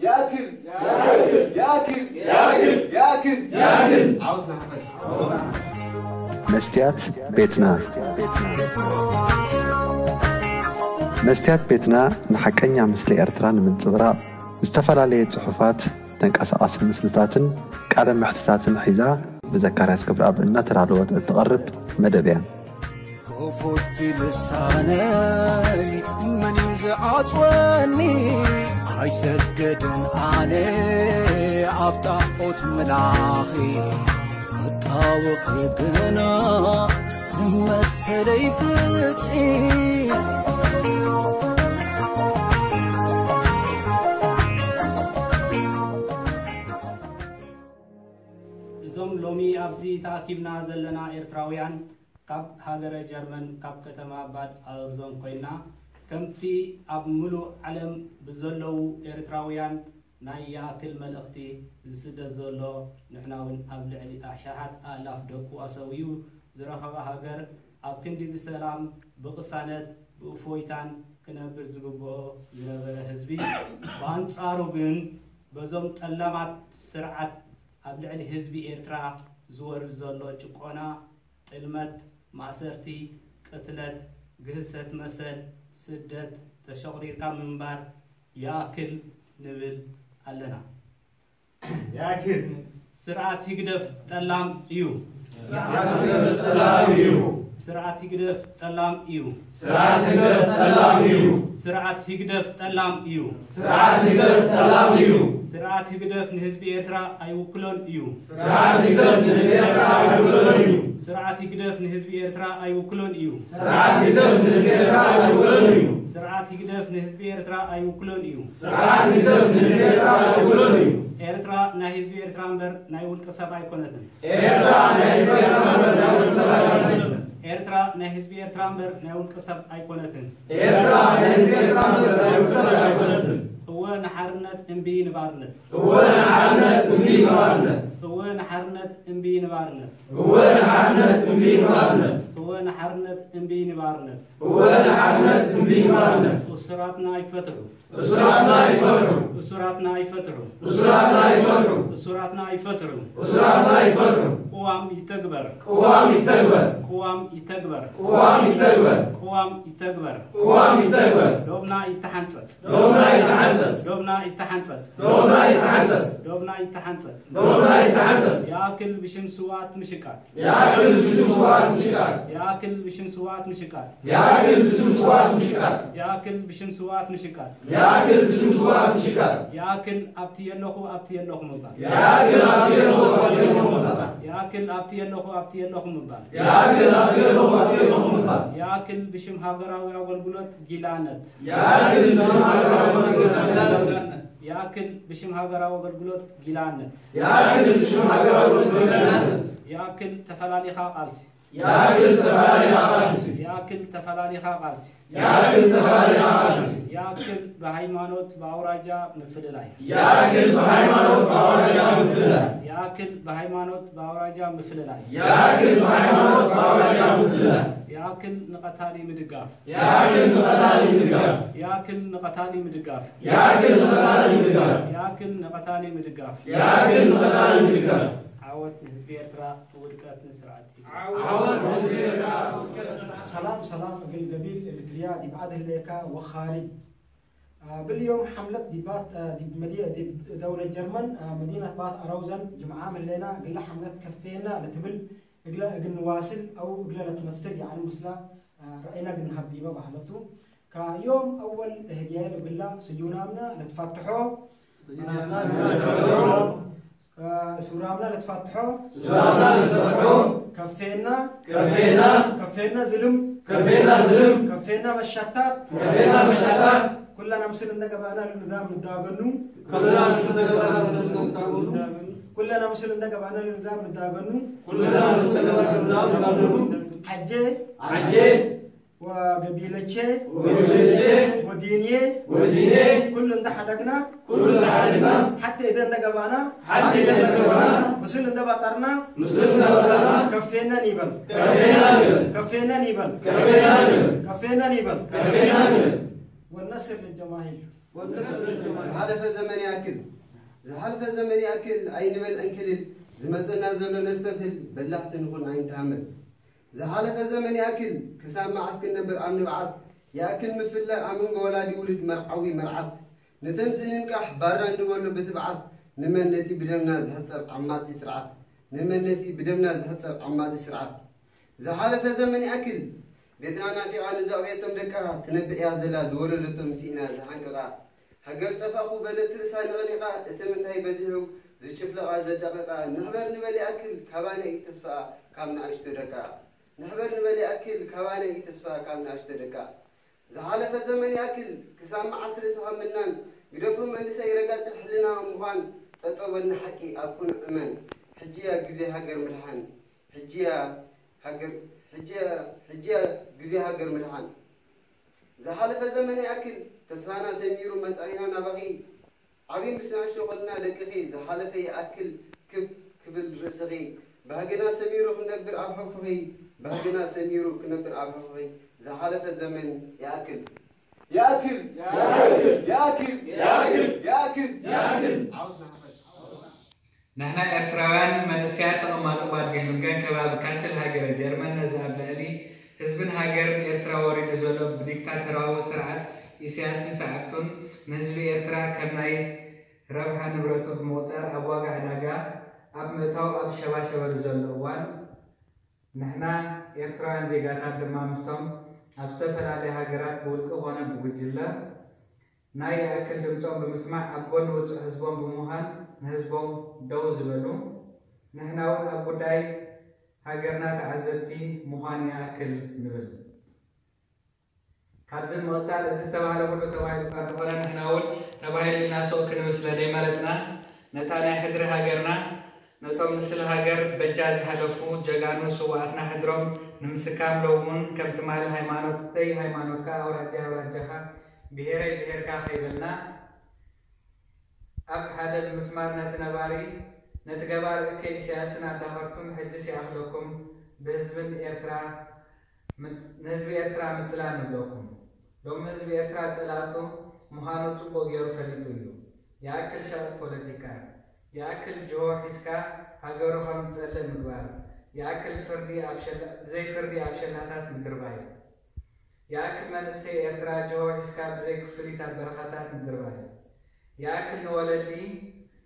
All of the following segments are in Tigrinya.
ይኣክል! ይኣክል! ይኣክል! ይኣክል! ይኣክል! ዓወት ንሓፋሽ! መስትያት ቤትና። መስትያት ቤትና ንሓቀኛ ምስሊ ኤርትራ ንምንጽብራቕ ዝተፈላለየ ጽሑፋት፣ ተንቀሳቓሲ ምስልታትን ቃለ መሕትታትን ሒዛ ብዘካርያስ ገብረኣብ እናተዳለወት እትቐርብ መደብ እያ። ክፉት ልሳነይ መን እዩ ዝዓጽወኒ? ኣይሰግድን ኣነ ኣብ ጣዖት ምላኺ፣ ክጣወኺ ግና መሰለይ ፍትሒ። እዞም ሎሚ ኣብዚ ተኣኪብና ዘለና ኤርትራውያን፣ ካብ ሃገረ ጀርመን፣ ካብ ከተማ ባድ ኣውርዞን ኮይና፣ ከምቲ ኣብ ምሉእ ዓለም ብዘለዉ ኤርትራውያን ናይ ይኣክል መልእኽቲ ዝስደድ ዘሎ፣ ንሕና እውን ኣብ ልዕሊ ኣሽሓት ኣእላፍ ደቁ ኣሰውዩ ዝረኸባ ሃገር፣ ኣብ ክንዲ ብሰላም፣ ብቕሳነት፣ ብእፎይታን ክነብር ዝግብኦ ዝነበረ ህዝቢ፣ ብኣንጻሩ ግን በዞም ጠላማት ስርዓት ኣብ ልዕሊ ህዝቢ ኤርትራ ዝወርድ ዘሎ ጭቆና፣ ጥልመት፣ ማእሰርቲ፣ ቅትለት፣ ግህሰት መሰል፣ ስደት፣ ተሸቑሪርካ ምንባር ይኣክል ንብል ኣለና። ይኣክል! ስርዓት ህግደፍ ጠላም እዩ። ስርዓት ህግደፍ ጠላም እዩ። ስርዓት ህግደፍ ጠላም እዩ። ስርዓት ህግደፍ ጠላም እዩ። ስርዓት ህግደፍ ጠላም እዩ። ስርዓት ህግደፍ ጠላም እዩ። ስርዓት ህግደፍ ንህዝቢ ኤርትራ ኣይውክሎን እዩ። ስርዓት ህግደፍ ንህዝቢ ኤርትራ ኣይውክሎን እዩ። ስርዓት ህግደፍ ንህዝቢ ኤርትራ ኣይውክሎን እዩ። ስርዓት ህግደፍ ንህዝቢ ኤርትራ ኣይውክሎን እዩ። ስርዓት ህግደፍ ንህዝቢ ኤርትራ ኣይውክሎን እዩ። ስርዓት ህግደፍ ንህዝቢ ኤርትራ ኣይውክሎን እዩ። ኤርትራ ናይ ህዝቢ ኤርትራ እምበር ናይ ውልቀ ሰብ ኣይኮነትን። ኤርትራ ናይ ህዝቢ ኤርትራ እምበር ናይ ውልቀ ሰብ ኣይኮነትን። ኤርትራ ናይ ህዝቢ ኤርትራ እምበር ናይ ውልቀ ሰብ ኣይኮነትን። ኤርትራ ናይ ህዝቢ ኤርትራ እምበር ናይ ውልቀ ሰብ ኣይኮነትን። እወ ንሓርነት እምቢ ንባርነት። እወ ንሓርነት እምቢ ንባርነት። እወ ንሓርነት እምቢ ንባርነት። እወ ንሓርነት እምቢ ንባርነት። እወ ንሓርነት እምቢ ንባርነት። እወ ንሓርነት እምቢ ንባርነት። እሱራትና ይፈትሑ። እሱራትና ይፈትሑ። እሱራትና ይፈትሑ። እሱራትና ይፈትሑ። እሱራትና ይፈትሑ። እሱራትና ይፈትሑ። ቅዋም ይተግበር። ቅዋም ይተግበር። ቅዋም ይተግበር። ቅዋም ይተግበር። ቅዋም ይተግበር። ቅዋም ይተግበር። ዶብና ይተሓንጸጽ። ዶብና ይተሓንጸጽ። ዶብና ይተሓንጸጽ። ዶብና ይተሓንጸጽ። ዶብና ይተሓንጸጽ። ዶብና ይተሓንጸጽ። ይኣክል ብሽም ስውኣት ምሽቃጥ። ይኣክል ብሽም ስውኣት ምሽቃጥ። ይኣክል ብሽም ስውኣት ምሽቃጥ። ይኣክል ብሽም ስውኣት ምሽቃጥ። ይኣክል ብሽም ስውኣት ምሽቃጥ። ይኣክል ብሽም ስውኣት ምሽቃጥ። ይኣክል ኣብቲ የለኹ ኣብቲ የለኹ ምባል። ይኣክል ኣብቲ የለኹ ኣብቲ የለኹ ምባል። ይኣክል ኣብቲ የለኹ ኣብቲ የለኹ ምባል። ይኣክል ኣብቲ የለኹ ኣብቲ የለኹ ምባል። ይኣክል ብሽም ሃገራዊ ኣገልግሎት ጊላነት። ይኣክል ብሽም ሃገራዊ ኣገልግሎት ጊላነት። ይኣክል ብሽም ሃገራዊ ኣገልግሎት ጊላነት። ይኣክል ብሽም ሃገራዊ ኣገልግሎት ጊላነት። ይኣክል ተፈላሊኻ ቃልሲ። ይኣክል ተፈላሊኻ ቃልሲ። ይኣክል ተፈላሊኻ ቃልሲ። ይኣክል ተፈላሊኻ ቃልሲ። ይኣክል ብሃይማኖት ብኣውራጃ ምፍልላይ። ይኣክል ብሃይማኖት ብኣውራጃ ምፍልላይ። ይኣክል ብሃይማኖት ብኣውራጃ ምፍልላይ። ይኣክል ብሃይማኖት ብኣውራጃ ምፍልላይ። ይኣክል ንቐታሊ ምድጋፍ። ይኣክል ንቐታሊ ምድጋፍ። ይኣክል ንቐታሊ ምድጋፍ። ይኣክል ንቐታሊ ምድጋፍ። ይኣክል ንቐታሊ ምድጋፍ። ይኣክል ንቐታሊ ምድጋፍ። ዓወት ንህዝቢ ኤርትራ፣ ውድቀት ንስርዓት። ዓወት ንህዝቢ ኤርትራ። ሰላም ሰላም እግል ገቢል ኤርትርያ ዲብ ዓድ ህሌካ ወኻሪጅ። አ፣ ብልዮም ሓምለት ዲባት፣ አ፣ ዲብ መዲ-፣ ዲብ ደውለት ጀርመን፣ አ፣ መዲነት ባት ኣረውዘን ጅምዓ ምህሌና እግለ ሓምለት ከፌና ለትብል እግለ እግል ንዋስል አው እግለ ለትመስል ያዕኒ ምስላ፣ አ፣ ረአይና እግል ንሀብ ዲበ ባህለቱ። ከዮም አወል ህግያየ ለብላ ስጁናምና ለትፋትሖ፣ አ፣ ሱራምና ለትፋትሖ፣ ሱራምና ለትፋትሖ፣ ከፌና፣ ከፌና፣ ከፌና ዝልም፣ ከፌና ዝልም፣ ከፌና መሻታት፣ ከፌና መሻታት፣ ኩለና ምስል እንደ ገባእና ለንዛም ንዳገኑ፣ ኩለና ምስል እንደ ገባእና ለንዛም ንዳገኑ፣ ኩለና ምስል እንደ ገባእና ለንዛም ንዳገኑ፣ ኩለና ምስል እንደ ገባእና ለንዛም ንዳገኑ፣ ዐጄ፣ ዐጄ፣ ወገቢለቼ፣ ወገቢለቼ፣ ወዲንዬ፣ ወዲንዬ፣ ኩሉ እንደ ሐደግና፣ ኩሉ እንደ ሐደግና፣ ሐቴ እደ እንደ ገባእና፣ ሐቴ እደ እንደ ገባእና፣ ምስል እንደ ባጠርና፣ ምስል እንደ ባጠርና፣ ከፌነን ይበል፣ ከፌነን ይበል፣ ከፌነን ይበል፣ ከፌነን ይበል፣ ከፌነን ይበል፣ ከፌነን ይበል። ወነስር ልጀማሂር። ዝሓለፈ ዘመን ይኣክል፣ ዝሓለፈ ዘመን ይኣክል፣ ኣይንበል ዕንክልል፣ ዝመጸና ዘሎ ነስተብህል፣ በላሕቲ ንኹን ኣይንተሃመል። ዝሓለፈ ዘመን ይኣክል፣ ክሳብ መዓስ ክንነብር ኣብ ንብዓት? ይኣክል ምፍላይ ኣብ መንጎ ወላዲ ውሉድ፣ መርዓዊ መርዓት። ንተንስእ ንንቃሕ ባራ ንበሎ ብትብዓት፣ ንመን ነቲ ብደምና ዝሕጸብ ዓማጺ ስርዓት? ንመን ነቲ ብደምና ዝሕጸብ ዓማጺ ስርዓት? ዝሓለፈ ዘመን ይኣክል፣ ቤትና ናፊቓ ንዘዕበየቶም ደቃ፣ ትነብዕ እያ ዘላ ዝወለደቶም ስኢና ዝሓንቀቓ። ሃገር ጠፋኹ በለት ርእሳ ነቕኒቓ፣ እቲ ምንታይ በዚሑ ዝጭፍለቓ ዘዳቐቓ። ንሕበር ንበል ይኣክል፣ ካባና እዩ ተስፋኣ ካብ ንኣሽቱ ደቃ። ንሕበር ንበል ይኣክል፣ ካባና እዩ ተስፋኣ ካብ ንኣሽቱ ደቃ። ዝሓለፈ ዘመን ይኣክል፣ ክሳብ መዓስ ርእስኻ ምናን? ግደፎ መንእሰይ ረጋጺ ሕልና ምዃን፣ ጠጠው በል ንሓቂ ኣብ ቅኑዕ እመን። ሕጂ እያ ግዜ ሃገር ምድሓን፣ ሕጂ እያ ሃገር፣ ሕጂ እያ፣ ሕጂ እያ ግዜ ሃገር ምድሓን። ዝሓለፈ ዘመን ይኣክል፣ ተስፋና ሰሚሩ መጻኢና ናባኺ። ዓቢ ምስ ንኣሽቱ ኾልና ደቅኺ፣ ዝሓለፈ ይኣክል ክብ ክብል ርእስኺ። ባህግና ሰሚሩ ክነብር ኣብ ሕቑፍኺ፣ ባህግና ሰሚሩ ክነብር ኣብ ሕቑፍኺ። ዝሓለፈ ዘመን ይኣክል። ይኣክል! ይኣክል! ይኣክል! ይኣክል! ይኣክል! ዓወት ንሓፋሽ! ንሕና ኤርትራውያን መንእሰያት ተቐማጦ ባድሜ ሉንገን ከባቢ ካስል ሃገረ ጀርመን ነዚ ኣብ ልዕሊ ህዝብን ሃገርን ኤርትራ ወሪዱ ዘሎ ብዲክታተራዊ ስርዓት ኢሳያስን ሰዓብቱን ንህዝቢ ኤርትራ ከም ናይ ረብሓ ንብረቱ ብምቑጻር ኣብ ዋጋ ዕዳጋ ኣብ ምእታው ኣብ ሸባሸበሉ ዘሎ እዋን ንሕና ኤርትራውያን ዜጋታት ድማ ምስቶም ኣብ ዝተፈላለያ ሃገራት ብውልቂ ኮነ ብጉጅለ ናይ ይኣክል ድምጾም ብምስማዕ ኣብ ጎኒ ውጹዕ ህዝቦም ብምዃን ንህዝቦም ደው ዝበሉ፣ ንሕና እውን ኣብ ጉዳይ ሃገርና ተዓዘብቲ ምዃን ይኣክል ንብል። ካብዚ ንምቕጻል እቲ ዝተባህለ ኩሉ ተባሂሉ እኳ እንተኾነ ንሕና እውን ተባሂሉ ኢልና ስቕ ክንብል ስለ ደይመረጽና ነታ ናይ ሕድሪ ሃገርና ነቶም ንስለ ሃገር በጃ ዝሓለፉ ጀጋኑ ስውኣትና ሕድሮም ንምስካም ሎም እውን ከም ትማሊ ሃይማኖተይ ሃይማኖትካ ኣውራጃይ ኣውራጃኻ ብሄረይ ብሄርካ ከይበልና ኣብ ሓደ ብምስማር ነቲ ነባሪ ነቲ ገባር እከይ ኢሳያስን ኣዳኸርቱን ሕጅስ ይኣኽለኩም ብህዝብን ኤርትራ ንህዝቢ ኤርትራ ምትላል ንብለኩም። ሎሚ ህዝቢ ኤርትራ ጸላእቱ ምዃኑ ጽቡቕ ገይሩ ፈሊጡ እዩ። ይኣክል ሸቐጥ ፖለቲካ፣ ይኣክል ጅሆ ሒዝካ ሃገሩ ከም ዝጸልእ ምግባር፣ ይኣክል ፍርዲ ኣብ ሸላ ብዘይ ፍርዲ ኣብ ሸላታት ምድርባይ፣ ይኣክል መንእሰይ ኤርትራ ጅሆ ሒዝካ ብዘይ ክፍሊት ኣብ በረኻታት ምድርባይ፣ ይኣክል ንወለዲ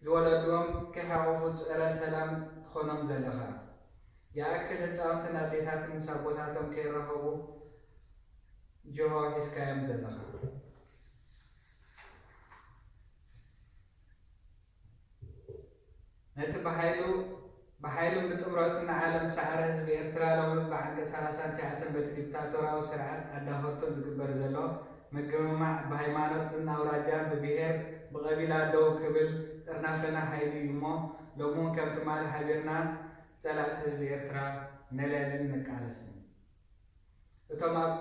ዝወለድዎም ከይሓቖፉ ጸረ ሰላም ትኾኖም ዘለኻ፣ ይኣክል ህጻውንትን ኣዴታትን ምስ ኣቦታቶም ከይራኸቡ ጅሆ ሒዝካዮም ዘለኻ። ነቲ ብሓይሉ ብሓይሉን ብጥምረቱን ንዓለም ዝሰዓረ ህዝቢ ኤርትራ ሎሚ ብዓንቀጽ ሰላሳን ትሽዓተን በቲ ዲክታቶራዊ ስርዓት ኣዳኸርቱን ዝግበር ዘሎ ምግምማዕ ብሃይማኖትን ኣውራጃን ብብሄር ብቐቢላ ደው ክብል ጥርናፈና ሓይሉ እዩ እሞ ሎሚ እውን ከም ትማሊ ሓቢርና ጸላእቲ ህዝቢ ኤርትራ ነለልን ንቃለስን። እቶም ኣብ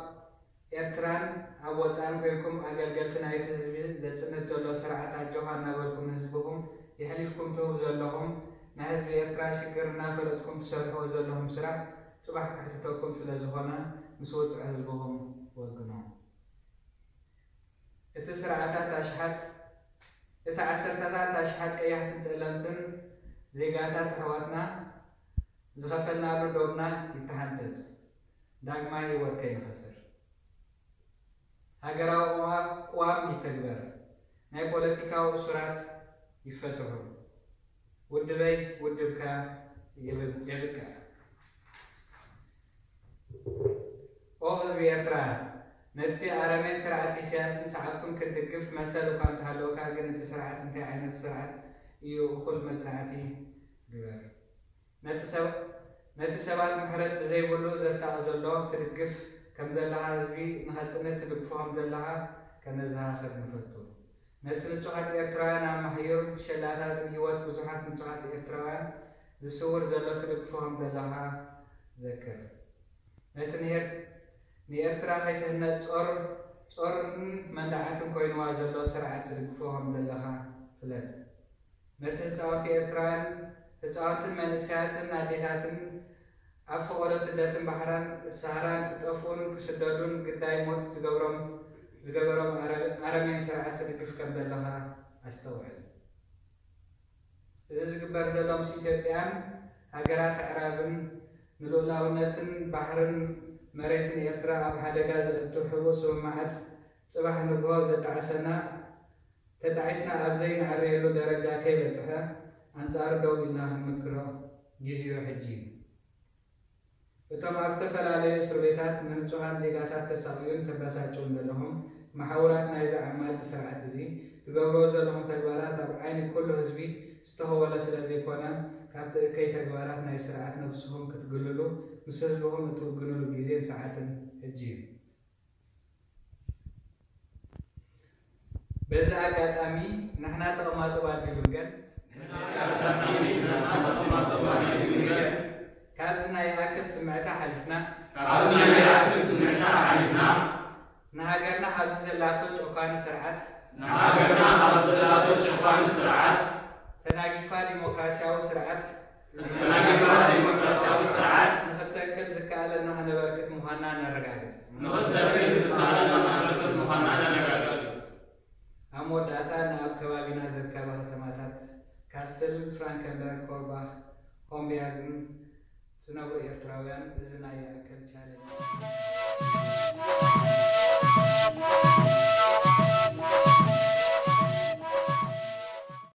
ኤርትራን ኣብ ወጻእን ኮይንኩም ኣገልገልቲ ናይቲ ህዝቢ ዘጽንት ዘሎ ስርዓት ኣጆኻ እናበልኩም ንህዝብኹም የሕሊፍኩም ትህቡ ዘለኹም ናይ ህዝቢ ኤርትራ ሽግር እናፈለጥኩም ትሰርሕዎ ዘለኹም ስራሕ ጽባሕ ከሕትተኩም ስለ ዝኾነ ምስ ውጹዕ ህዝብኹም ወግኑ። እቲ ስርዓታት ኣሽሓት እቲ ዓሰርተታት ኣሽሓት ቀያሕትን ጸለምትን ዜጋታት ኣሕዋትና ዝኸፈልናሉ ዶብና ይተሓንጸጽ። ዳግማይ ህይወት ከይንኸስር። ሃገራዊ ቅዋ- ቅዋም ይተግበር። ናይ ፖለቲካዊ እሱራት ይፈትሑ። ውድበይ ውድብካ የብ- የብቅዕ። ኦ ህዝቢ ኤርትራ፣ ነቲ ኣረሜን ስርዓት ኢሳያስን ሰዓብቱን ክትድግፍ መሰል እኳ እንተሃለወካ፣ ግን እቲ ስርዓት እንታይ ዓይነት ስርዓት እዩ እኹል መጽናዕቲ ግበር። ነቲ ሰብ ነቲ ሰባት ምሕረት ብዘይብሉ ዘሳቒ ዘሎ ትድግፍ ከም ዘለኻ ህዝቢ ንኸጽንት ትድግፎ ከም ዘለኻ ከነዘኻኽር ንፈቱ። ነቲ ንጹሃት ኤርትራውያን ኣብ ማሕዩር ሸላታትን ህይወት ብዙሓት ንጹሃት ኤርትራውያን ዝስውር ዘሎ ትድግፎ ከም ዘለኻ ዘክር። ነቲ ንኤር- ንኤርትራ ከይትህነጽ ጾር ጾርን መንደዓትን ኮይንዋ ዘሎ ስርዓት ትድግፎ ከም ዘለኻ ፍለጥ። ነቲ ህጻውንቲ ኤርትራውያን ህጻውንትን መንእሰያትን ኣዴታትን ኣብ ፈቐዶ ስደትን ባሕራን ሳህራን ክጠፍኡን ክስደዱን ግዳይ ሞት ዝገብሮም ዝገበሮም ኣረ- ኣረሜን ስርዓት ትድግፍ ከም ዘለኻ ኣስተውዕል። እዚ ዝግበር ዘሎ ምስ ኢትዮጵያን ሃገራት ኣዕራብን ንልኡላውነትን ባሕርን መሬትን ኤርትራ ኣብ ሓደጋ ዘእቱ ሕቡእ ስምምዓት ጽባሕ ንግሆ ዘጣዕሰና ተጣዒስና ኣብ ዘይንዕረየሉ ደረጃ ከይበጽሐ ኣንጻሩ ደው ኢልና ክንምክሮ ግዜኡ ሕጂ እዩ። እቶም ኣብ ዝተፈላለዩ እስር ቤታት ንንጹሃን ዜጋታት ተሳቕዩን ተበሳጭውን ዘለኹም መሓውራት ናይዚ ዓማጺ ስርዓት እዚ ትገብርዎ ዘለኹም ተግባራት ኣብ ዓይኒ ኩሉ ህዝቢ ዝተኸወለ ስለ ዘይኮነ ካብቲ እከይ ተግባራት ናይ ስርዓት ነብስኹም ክትግልሉ ምስ ህዝብኹም እትውግንሉ ግዜን ሰዓትን ሕጂ እዩ። በዚ ኣጋጣሚ ንሕና ተቐማጦ ባዲ ብንገር ካብዚ ናይ ይኣክል ስምዕታ ሓሊፍና ካብዚ ናይ ይኣክል ስምዕታ ሓሊፍና ንሃገርና ካብዚ ዘላቶ ጨቋኒ ስርዓት ንሃገርና ካብዚ ዘላቶ ጨቋኒ ስርዓት ተናጊፋ ዲሞክራሲያዊ ስርዓት ተናጊፋ ዲሞክራሲያዊ ስርዓት ንኽተክል ዝከኣለና ከነበርክት ምዃንና ነረጋግጽ። ንኽተክል ዝከኣለና ከነበርክት ምዃንና ነረጋግጽ። ኣብ መወዳእታ ንኣብ ከባቢና ዝርከባ ከተማታት ካስል፣ ፍራንከንበርግ፣ ኮርባኽ፣ ሆምቢያርግን ዝነብሩ ኤርትራውያን እዚ ናይ ይኣክል ቻሌንጅ